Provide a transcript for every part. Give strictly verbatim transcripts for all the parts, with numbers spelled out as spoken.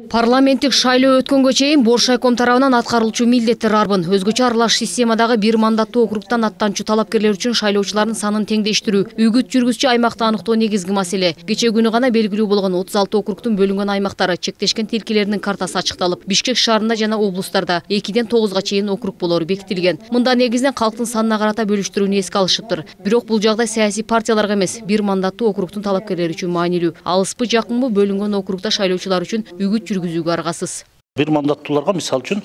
Парламенттик шайлоо өткөнгө чейин Бош райком тарабынан аткарылчу милдеттер арбын. Өзгөчө аралаш системадагы бир мандаттуу округтан аттанчу талапкерлер үчүн шайлоочулардын санын теңдештирүү, үгүт жүргүзчү аймакты аныктоо негизги маселе. Кечээ күнү гана белгилүү болгон отуз алты округтун бөлүнгөн аймактары чектешкен тилкелеринин картасы ачыкталып, Бишкек шаарында жана облустарда экиден тогузга чейин округ болору бекитилген. Мында негизинен калктын санына карата бөлүштүрүүнү эске алышыптыр. Бирок бул жагдай саясий партияларга эмес, бир мандаттуу округтун талапкерлери үчүн маанилүү. Алыспы жакынбы бөлүнгөн округда шайлоочулар үчүн үгүт жүргүзүүгө аргасыз. Бир мандаттууларга мисалы үчүн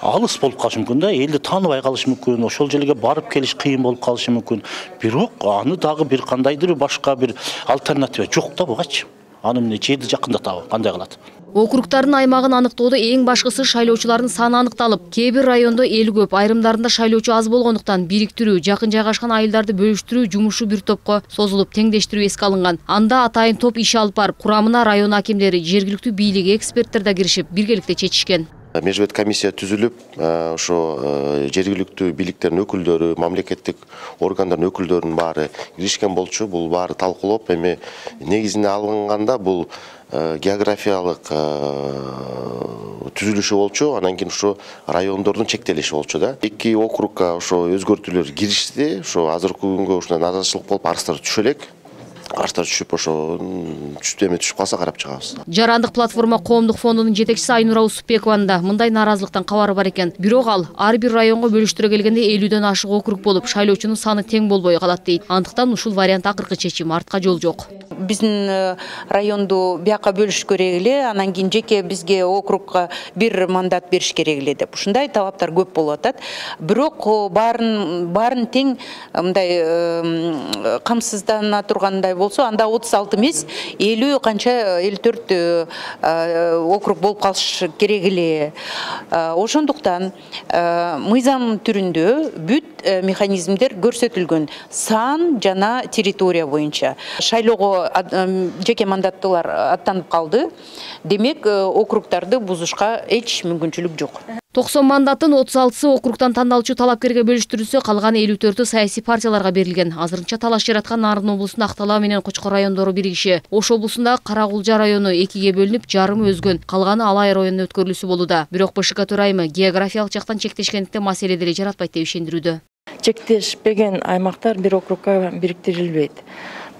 алыс болуп калышы мүмкүн да, элди тааныбай калышы мүмкүн, ошол жерге барып келиш кыйын болуп калышы мүмкүн. Бирок аны дагы бир кандайдыр башка бир альтернатива жок да бугачы. Аны эмне жерди жакындатабы, кандай кылат? Округдардын аймагын аныктоодо эң башкысы шайлоочулардын саны аныкталып, кээ бир райондо эл көп, айрымдарында шайлоочу аз болгондуктан бириктирүү, жакын жайгашкан айылдарды бөлүштүрүү жумушу бир топко созулуп, теңдештирүү эске алынган. Анда атайын топ иш алып барып, курамына район акимдери, жергиликтүү бийлик, эксперттер да киришип, биргеликте чечишкен. Межбет комиссия түзүлүп, ошо жергиликтүү бийликтердин өкүлдөрү, мамлекеттик органдардын өкүлдөрүнүн баары киришкен болчу. Бул баары талкуулоп, эми негизине алынганда бул географиялык түзүлүшү болчу, анан кийин ошо райондордун чектелиши болчу да. Эки округга ошо өзгөртүүлөр киришти. Ошо азыркы күнгө ушундай наразычылык болуп, арыздар түшө элек. Арыздар түшүп, ошо эме түшүп калса карап чыгабыз. Жарандык платформа коомдук фондунун жетекчиси Айнура Усупбекованын да мындай наразылыктан кабары бар экен. Бирок ал ар бир районго бөлүштүрө келгенде элүүдөн ашык округ болуп, шайлоочунун саны тең болбой калат дейт. Андыктан ушул вариант акыркы чечим, артка жол жок. Биздин районду бияка бөлүш керек эле, анан кийин жеке бизге округга бир мандат бериш керек эле деп. Ушундай талаптар көп болуп атат. Бирок баарын баарын тең мындай камсыздана тургандай болсо, анда отуз алты эмес, элүү канча элүү төрт округ болуп калыш керек эле. Ошондуктан мыйзам түрүндө бүт механизмдер көрсөтүлгөн, сан жана территория боюнча. Шайлоого жеке мандаттуулар аттанып калды. Демек, округдарды бузушка эч мүмкүнчүлүк жок. токсон мандаттын отуз алтысы округтан тандалчу талапкерге бөлүштүрүлсө, калган элүү төртү саясий партияларга берилген. Азырынча талаш жараткан Нарын облусунда Актала менен Кочкор райондору биригиши. Ош облусунда Каракулжа району экиге бөлүнүп, жарымы өзгөн, калганы Алай районуна өткөрүлүүсү болууда. Бирок БШК төрайымы географиялык жактан чектешкендиктен маселе деле жаратпайт деп ишендирүүдө. Чектешпеген аймактар бир округга бириктирилбейт.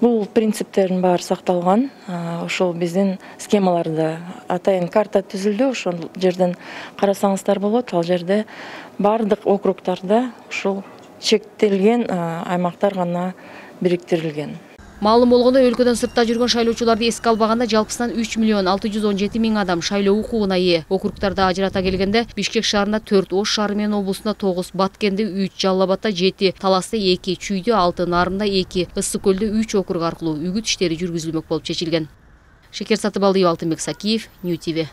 Бул принциптердин баары сакталган. Ошол биздин схемаларда атайын карта түзүлдү. Ошол жерден карасаңыздар болот. Ал жерде бардык округдарда ушул чектелген аймактар гана бириктирилген. Маалым болгондой, өлкөдөн сыртта жүргөн шайлоочуларды эске албаганда жалпысынан үч миллион алты жүз он жети миң адам шайлоо укугуна ээ. Округтарды ажырата келгенде Бишкек шаарында төрт, Ош шаары менен облусунда тогуз, Баткенде үч, Жалал Абадта жети, Таласта эки, Чүйдө алты, Нарында эки, Ысык көлдө үч округ аркылуу үгүт иштери жүргүзүлмөк болуп чечилген. Шекер Сатыбалдиева, Алтынбек Сакиев, Нью ти ви.